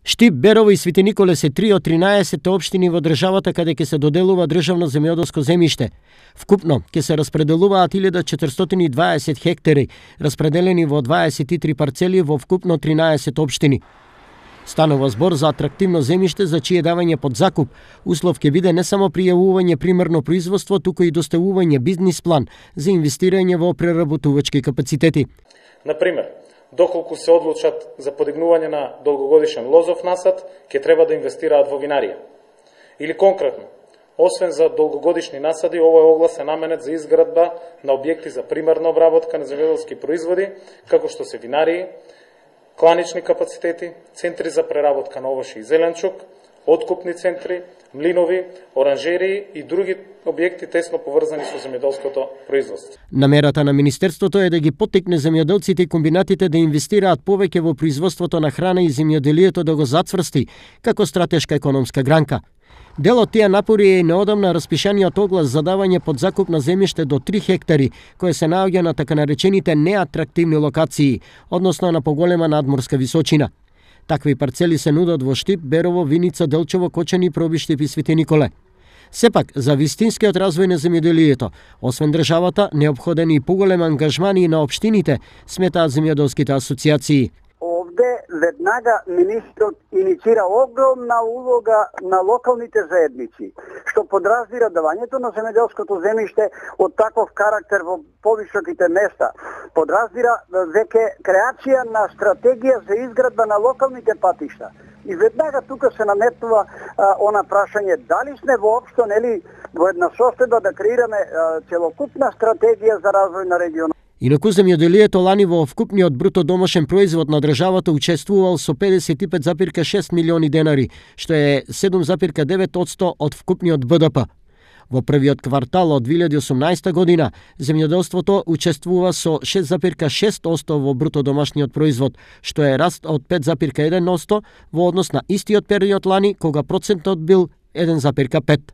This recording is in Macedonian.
Штип, Берово и Свети Николе се 3 од 13 општини во државата каде ќе се доделува државно земјоделско земјиште. Вкупно ќе се распределуваат 1420 хектари, распределени во 23 парцели во вкупно 13 општини. Станува збор за атрактивно земјиште за чие давање под закуп услов ќе биде не само пријавување примерно производство, туку и доставување бизнис план за инвестирање во преработувачки капацитети. Например, доколку се одлучат за подигнување на долгогодишен лозов насад, ќе треба да инвестираат во винарија. Или конкретно, освен за долгогодишни насади, овој оглас е наменет за изградба на објекти за примерна обработка на земјоделски производи, како што се винарии, кланични капацитети, центри за преработка на овошје и зеленчук, откупни центри, млинови, оранжерии и други објекти тесно поврзани со земјоделското производство. Намерата на Министерството е да ги поттикне земјоделците и комбинатите да инвестираат повеќе во производството на храна и земјоделието да го зацврсти како стратешка економска гранка. Дел од тие напори е и неодамна распишаниот оглас за давање под закуп на земјиште до 3 хектари, кое се наоѓа на така наречените неатрактивни локации, односно на поголема надморска височина. Такви парцели се нудат во Штип, Берово, Виница, Делчево, Кочани, Пробиштип и Свети Николе. Сепак, за вистинскиот развој на земјоделието, освен државата, неопходен и поголем ангажман и на општините, сметаат земјоделските асоцијации. Овде веднага министрот инициира огромна улога на локалните заедници, што подразбира давањето на земјоделското земјиште од таков карактер во повисоките места. Подразбира веќе креација на стратегија за изградба на локалните патишта. И веднага тука се наметнува она прашање дали сме воопшто во една состојба да креираме целокупна стратегија за развој на регионот. Инаку земјоделието лани во вкупниот бруто домашен производ на државата учествувал со 55,6 милиони денари, што е 7,9% од вкупниот БДП. Во првиот квартал од 2018 година, земјоделството учествува со 6,6% во бруто домашниот производ, што е раст од 5,1% во однос на истиот период лани, кога процентот бил 1,5%.